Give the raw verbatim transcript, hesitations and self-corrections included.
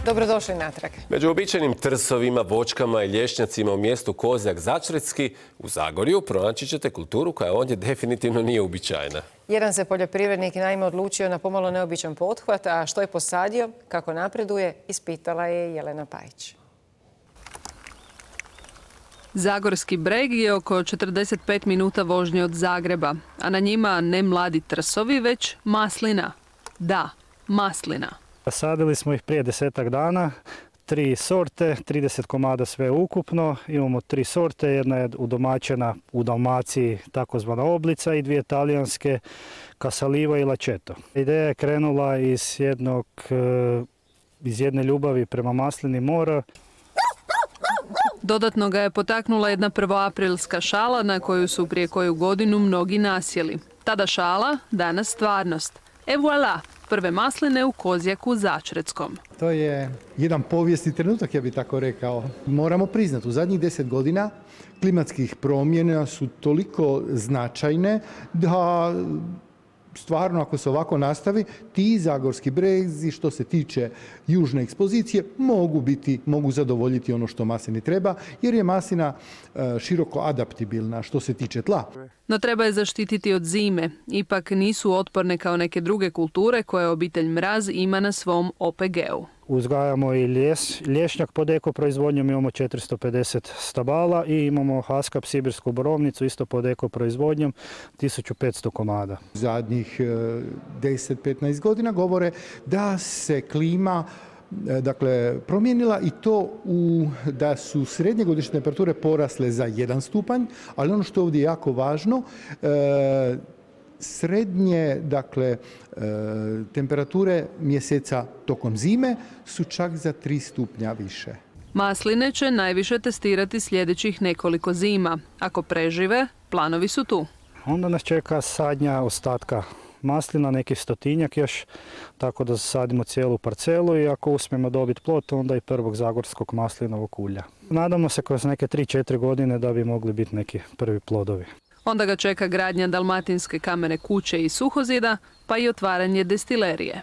Dobrodošli natrag. Među običajnim trsovima, voćkama i lješnjacima u mjestu Kozjak Začretski u Zagorju pronaći ćete kulturu koja ovdje definitivno nije uobičajena. Jedan se poljoprivrednik naime odlučio na pomalo neobičan pothvat, a što je posadio, kako napreduje, ispitala je Jelena Pajić. Zagorski breg je oko četrdeset pet minuta vožnje od Zagreba, a na njima ne mladi trsovi, već maslina. Da, maslina. Sadili smo ih prije desetak dana, tri sorte, trideset komada sve ukupno. Imamo tri sorte, jedna je udomaćena u Dalmaciji, takozvana oblica, i dvije talijanske, Casaliva i Lačeto. Ideja je krenula iz, jednog, iz jedne ljubavi prema maslini mora. Dodatno ga je potaknula jedna prvoaprilska šala na koju su prije koju godinu mnogi nasjeli. Tada šala, danas stvarnost. E voilà, prve masline u Kozjaku Začretskom. To je jedan povijesni trenutak, ja bih tako rekao. Moramo priznati, u zadnjih deset godina klimatskih promjena su toliko značajne da stvarno, ako se ovako nastavi, ti zagorski brezi, što se tiče južne ekspozicije, mogu biti, mogu zadovoljiti ono što maslini treba, jer je maslina široko adaptibilna što se tiče tla. No treba je zaštititi od zime. Ipak nisu otporne kao neke druge kulture koje obitelj Mraz ima na svom O P G-u. Uzgajamo i ljes, lješnjak pod eko proizvodnjom, imamo četiristo pedeset stabala i imamo Haskap sibirsku borovnicu isto pod eko proizvodnjom, tisuću petsto komada. Zadnjih deset do petnaest godina govore da se klima dakle, promijenila i to u, da su srednje godišnje temperature porasle za jedan stupanj, ali ono što je ovdje jako važno, e, srednje, dakle, e, temperature mjeseca tokom zime su čak za tri stupnja više. Masline će najviše testirati sljedećih nekoliko zima. Ako prežive, planovi su tu. Onda nas čeka sadnja ostatka maslina, neki stotinjak još, tako da sadimo cijelu parcelu i ako uspijemo dobiti plod, onda i prvog zagorskog maslinovog ulja. Nadamo se kroz neke tri do četiri godine da bi mogli biti neki prvi plodovi. Onda ga čeka gradnja dalmatinske kamene kuće i suhozida, pa i otvaranje destilerije.